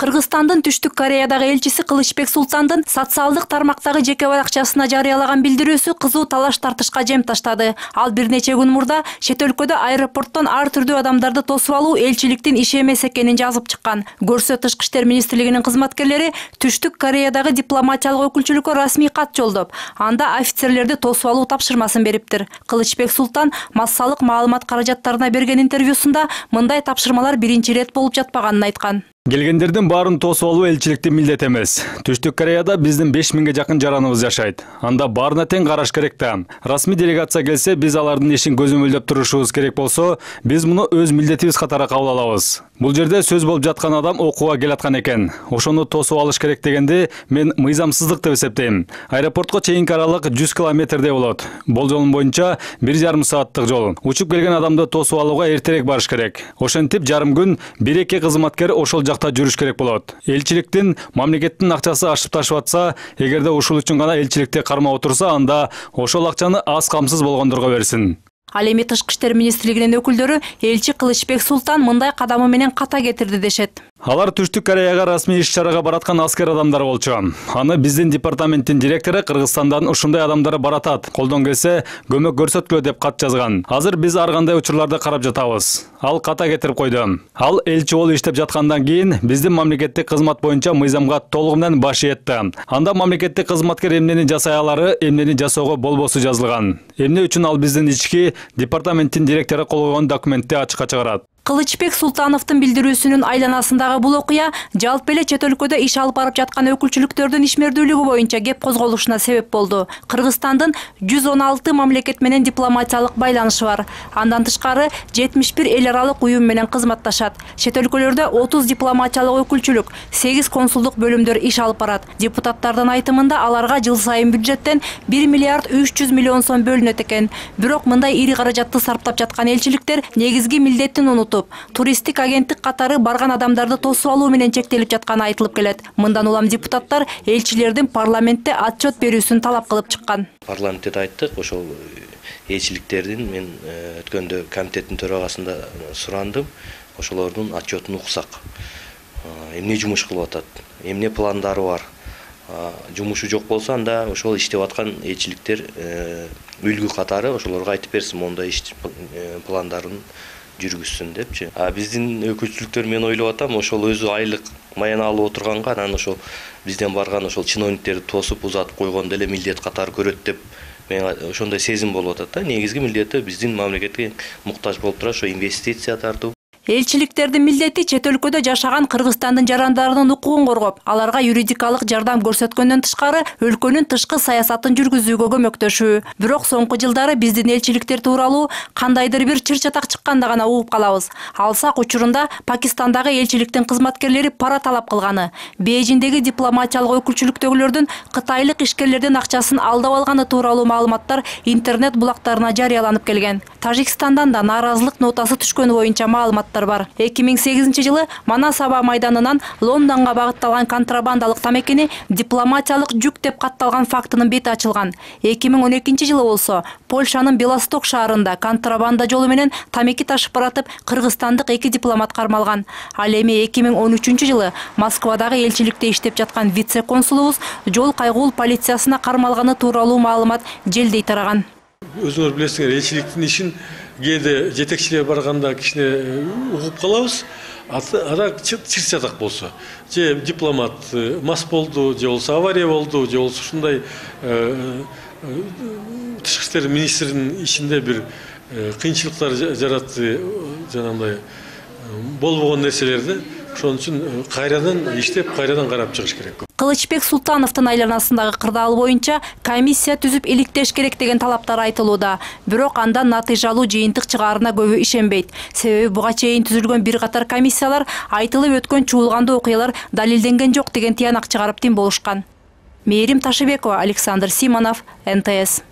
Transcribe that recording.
Кыргызстандын Түштүк Кореядагы элчиси Кылычбек Султандын социалдык тармактагы жеке баракчасына жарыялаган билдирүүсү кызуу талаш тартышка жем таштады. Ал бир нече күн мурда чет өлкөдө аэропорттон ар түрдүү адамдарды тосуп алуу элчиликтин иши эмес экенин жазып чыккан. Көрсө Тышкы иштер министрлигинин кызматкерлери Түштүк Кореядагы дипломатиялык өкүлчүлүккө расмий кат жолдоп, анда офицерлерди тосуп алуу тапшырмасын бериптир. Кылычбек Султан массалык маалымат каражаттарына берген интервьюсунда мындай тапшырмалар биринчи ирет болуп жатпаганын айткан. Келгендердин баарын тосуп алуу элчиликтин милдети эмес. Түштүк Кореяда биздин 5000ге жакын жараныбыз жашайт. Анда баарына тең караш керек да. Расмий делегация келсе, биз алардын ишин көзөмөлдөп турушубуз керек болсо, биз муну өз милдетибиз катары кабыл алабыз. Бул жерде сөз болуп жаткан адам окууга келаткан экен. Ошону тосуп алыш керек дегенде мен мыйзамсыздык деп эсептейм. Аэропортко чейинки аралык 100 километрдей болот. Болжолум боюнча 1,5 сааттык жол. Учуп келген адамды тосуп алууга эртерээк барыш керек. Ошентип жарым күн 1-2 кызматкер ошол жакта жүрүш керек болот. Элчиликтин, мамлекеттин акчасы ашып ташып атса, эгерде ушул үчүн гана элчиликте кармап отурса, анда ошол акчаны аз камсыз болгондорго берсин. Ал эми Тышкы иштер министрлигинин өкүлдөрү элчи Кылычбек Султан мындай кадамы менен ката кетирди дешет. Алар Түштүк Кореяга расмий иш-чарага бараткан аскер адамдар болчу. Аны биздин департаменттин директору Кыргызстандан ушундай адамдар баратат. Колдон келсе, көмөк көрсөткүлө деп кат жазган. Азыр биз ар кандай учурларды карап жатабыз. Ал ката кетирип койду. Ал элчи болуп иштеп жаткандан кийин биздин мамлекеттик кызмат боюнча мыйзамга толугу менен баш ийетти. Анда мамлекеттик кызматкер эмнени жасай алары, эмнени жасоого болбосу жазылган. Эмне үчүн ал биздин ички департаменттин директору кол койгон документти ачыкка чыгарат. Кылычбек Султановдун билдирүүсүнүн айланасындагы бул окуя жалпы эле чет өлкөдө иш алып барып жаткан өкүлчүлүктөрдүн ишмердүүлүгү боюнча кеп козголушуна себеп болду. Кыргызстандын 116 мамлекет менен дипломатиялык байланышы бар. Андан тышкары 71 эл аралык уюм менен кызматташат. Чет өлкөлөрдө 30 дипломатиялык өкүлчүлүк, 8 консулдук бөлүмдөр иш алып барат. Депутаттардын айтымында аларга жыл сайын бюджеттен 1 миллиард 300 миллион сом бөлүнөт экен. Бирок мындай ири каражатты сарптап жаткан элчиликтер негизги милдетин унутуп, туристтик агенттик катары барган адамдарды тосуп алуу менен чектелип жатканы айтылып келет. Мындан улам депутаттар элчилердин парламентте отчет берүүсүн талап кылып чыккан. Парламентте айттык, ошол элчиликтердин мен өткөндө комитеттин төрагасында сурандым, ошолордун отчетун уксак. Эмне жумуш кылып атат, эмне пландары бар. Жумушу жок болсо, анда ошол иштеп аткан элчиликтер үлгү катары ошолорго айтып берсин, мондай иш пландарын жүргүзсүн депчи. Биздин өкүлчүлүктөр мен ойлоп атам, ошол өзү айлык маяна алып отурганга, анан ошол бизден барган ошол чиновниктерди тосуп узатып койгондо эле милдет катары көрөт деп мен ошондой сезим болуп атат да. Негизги милдети биздин мамлекетке муктаж болуп тура ошо инвестиция тартуу. Элчиликтердин милдети чет өлкөдө жашаган Кыргызстандын жарандарынын укугун коргоп, аларга юридикалык жардам көрсөткөндөн тышкары өлкөнүн тышкы саясатын жүргүзүүгө көмөктөшүү. Бирок соңку жылдары биздин элчиликтер тууралуу кандайдыр бир чыр-чатак чыкканда гана угуп калабыз. Алсак учурунда Пакистандагы элчиликтин кызматкерлери пара талап кылганы, Бейжиңдеги дипломатиялык өкүлчүлүктөгүлөрдүн кытайлык ишкерлердин акчасын алдап алганы тууралуу маалыматтар интернет булактарына жарыяланып келген. Тажикстандан да нааразылык нотасы түшкөнү боюнча маалыматтар бар. 2008 жылы Манас аба майданынан Лондонго багытталган контрабандалык тамекини дипломатиялык жүк деп катталган фактынын бети ачылган. 2012 жылы болсо Польшанын Белосток шаарында контрабанда жолу менен тамеки ташып баратып кыргызстандык 2 дипломат кармалган. Ал эми 2013 жылы Москвадагы элчиликте иштеп жаткан вице-консулубуз жол кайгуул полициясына кармалганы тууралуу маалымат желдей тараган. Өзүңөр билесиңер, элчиликтин ишин кээде жетекчилер барганда кичине угуп калабыз. Ада чыр-чатак болсо, же дипломат мас болду, же болсо авария болду, же болсо ушундай тышкы иштер министринин ишинде бир кыйынчылыктар жаратты, жанагындай болбогон нерселерди. Ошон үчүн кайрадан иштеп, кайрадан карап чыгыш керек. Кылычбек Султановдун айланасындагы кырдаал боюнча комиссия түзүп иликтеш керек деген талаптар айтылууда. Бирок андан натыйжалуу жыйынтык чыгаарына көбү ишенбейт. Себеби буга чейин түзүлгөн бир катар комиссиялар айтылып өткөн чуулгандуу окуялар далилденген жок деген тыянак чыгарып тим болушкан. Мээрим Ташыбекова, Александр Симонов, НТС.